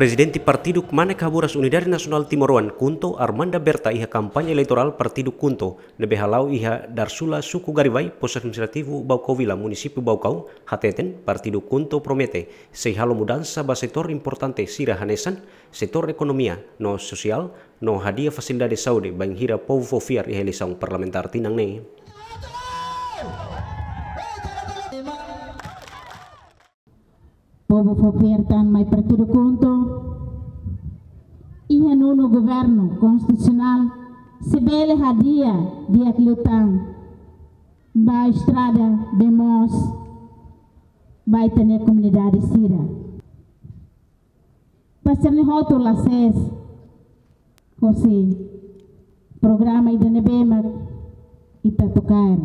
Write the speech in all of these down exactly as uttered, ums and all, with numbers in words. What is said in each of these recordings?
Prezidente Partidu Kmanek Haburas Unidade Nasionál Timoroan, KHUNTO, Armanda Berta, iha kampaña eleitorál Partidu KHUNTO ne'ebé hala'o iha Darsula, Suku Garivai, Postu Administrativu Baucau Vila, Munisípiu Baucau, hateten Partidu KHUNTO promete sei halo mudansa ba setór importante sira hanesan setór ekonomia no sosiál, no hadi'a fasilidade saúde bainhira povu fó fiar iha eleisaun parlamentár tinan ne'e. Povu fó fiar tan mai Partidu KHUNTO, iha nonu governu konstitusionál, sei bele hadi'a di'ak liután ba estrada, bee moos ba ita-nia komunidade sira. Ba sira-ne'e hotu la sees hosi programa ida ne'ebé mak ita to'o kaer.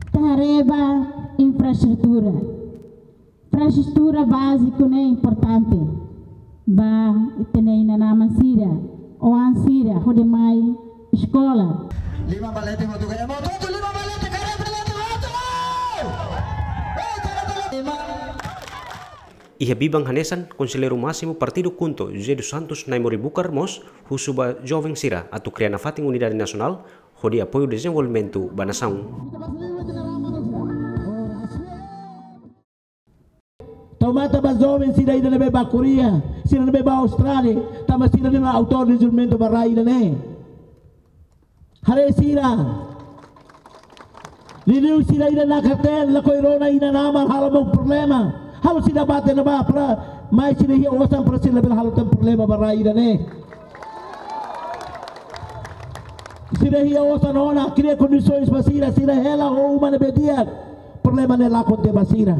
Ita haree ba infraestrutura. Infraestrutura báziku ne'e importante ba ita-nia inan-aman sira, oan sira, hodi mai eskola. Lima balete matuka, ema hotu lima balete, kareta balete hotu. Ei, kareta balete lima. Iha biban hanesan, Konselleiru Másimu Partidu KHUNTO, José dos Santos Naimori Bucar mós husu ba joven sira atu kria nafatin unidade nasionál hodi apoiu dezenvolvimentu ba nasaun. Tau matan ba joven sira ida ne'ebé bá ko'alia, sira ne'ebé bá Austrália, tanba sira ne'e mak autór dezenvolvimentu ba rai ida-ne'e. Haree sira. Liuliu sira ida nakar-teen, lakohi rona inan-aman, halo mós problema. Halo sira bá tiha ona ba para mai sira iha osan para sira labele halo tan problema ba rai ida-ne'e. Sira iha osan ona, kria kondisoens ba sira, sira hela ho uma ne'ebé di'ak. Problema ne'e lakon tiha ba sira.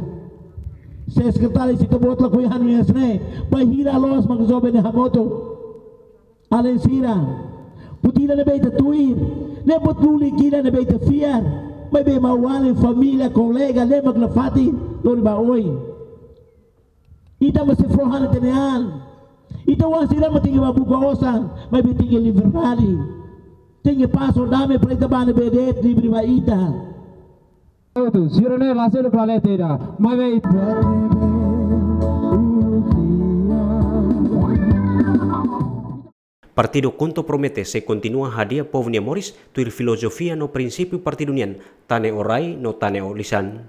Se sekretáriu, se ita-boot lakohi hanoin hanesan ne'e, bainhira loos mak joven ne'e hamutuk. Alin sira, buat ida ne'ebé ita tuir, ne'e buat lulik ida ne'ebé ita fiar, maibé maun-alin, família, kolega, ne'e mak nafatin lori ba oin. Ita mós sei fó hanoin ita-nia an. Ita-boot sira mós tenke bá buka osan, maibé tenke liberdade. Tenke pás no dame para ita bá ne'ebé de'it livre ba ita. Sira-ne'e la sei klalete ida, maibé Partidu KHUNTO promete sei kontinua hadi'a povu nia moris tuir filozofia no prinsípiu partidu nian, Tane ho Rai no Tane ho Lisan.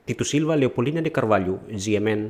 Tito Silva, Leopoldina de Carvalho, G M N.